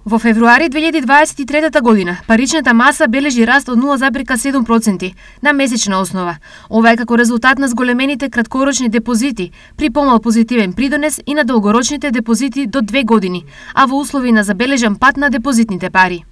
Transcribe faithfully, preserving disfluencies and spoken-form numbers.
Во февруари две илјади дваесет и трета година паричната маса бележи раст од нула зарез седум проценти на месечна основа. Ова е како резултат на зголемените краткорочни депозити при помал позитивен придонес и на долгорочните депозити до две години, а во услови на забележан пад на депозитните пари.